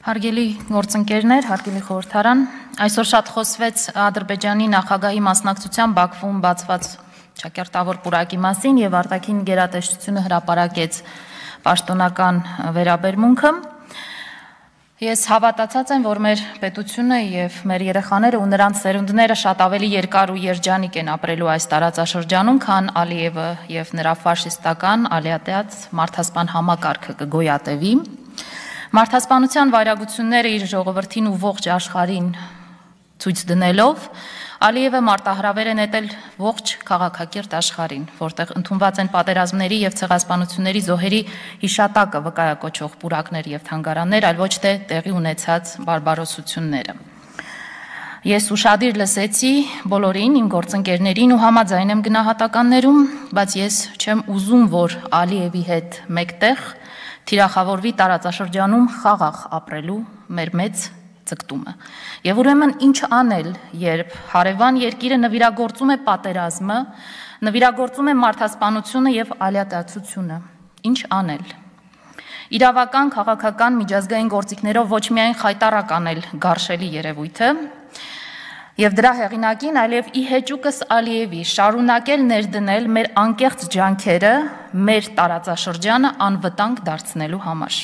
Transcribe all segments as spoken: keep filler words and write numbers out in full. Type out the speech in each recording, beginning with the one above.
Հարգելի գործընկերներ, հարգելի խորհրդարան, այսօր շատ խոսվեց Ադրբեջանի նախագահի մասնակցությամբ Բաքվում բացված ճակերտավոր պուրակի մասին եւ արտաքին գերատեսչությունը հրապարակեց պաշտոնական վերաբերմունքը։ Ես հավատացած եմ, որ մեր պետությունը եւ մեր երեխաները ու նրանց սերունդները շատ ավելի երկար ու երջանիկ են ապրելու այս տարածաշրջանում, քան Ալիևը եւ նրա ֆաշիստական ալիատեած մարդասպան համակարգը կգոյատևի։ Մարդասպանության վայրագությունները իր ժողովրդին ու ողջ աշխարհին ցույց դնելով Ալիևը մարտահրավեր է նետել ողջ քաղաքակիրթ աշխարհին, որտեղ ընդունված են պատերազմների եւ ցեղասպանությունների զոհերի հիշատակը վկայակոչող պուրակներ եւ թանգարաններ, այլ ոչ թե տեղի ունեցած բարբարոսությունները։ Ես ուշադիր լսեցի բոլորին, իմ գործընկերներին ու համաձայն եմ գնահատականներում, բայց ես չեմ ուզում, որ Ալիևի հետ մեկտեղ թիրախավորվի տարածաշրջանում խաղաղ ապրելու մեր մեծ ձգտումը։ Եվ ուրեմն ինչ անել, երբ հարևան երկիրը նվիրագործում է պատերազմը, նվիրագործում է մարդասպանությունը եւ ալիատացությունը։ Ինչ անել։ Իրավական, քաղաքական, միջազգային գործիքներով ոչ միայն խայտառակ անել գարշելի երևույթը, եւ դրա հեղինակին, այլև ի հեճուկս Ալիևի շարունակել ներդնել մեր անկեղծ ջանքերը մեր տարածաշրջանը անվտանգ դարձնելու համար։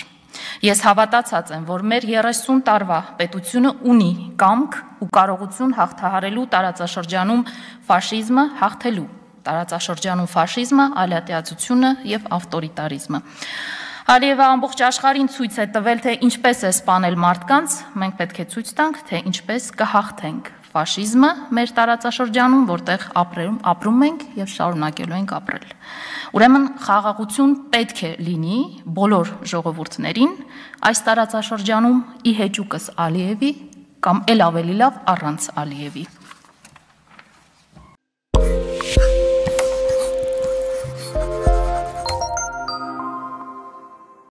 Ես հավատացած եմ, որ մեր երեսուն տարվա պետությունը ունի կամք ու կարողություն հաղթահարելու տարածաշրջանում ֆաշիզմը, հաղթելու տարածաշրջանում ֆաշիզմը, ալիատեացությունը եւ ավտորիտարիզմը։ Ալիևը ամբողջ աշխարհին ցույց է տվել, թե ինչպես է սպանել մարդկանց, մենք պետք է ցույց տանք, թե ինչպես կհաղթենք ֆաշիզմը մեր տարածաշրջանում, որտեղ ապրում, ապրում ենք եւ շարունակելու ենք ապրել։ Ուրեմն խաղաղություն պետք է լինի բոլոր ժողովուրդներին այս տարածաշրջանում ի հեճուկս Ալիևի կամ ել ավելի լավ առանց Ալիևի։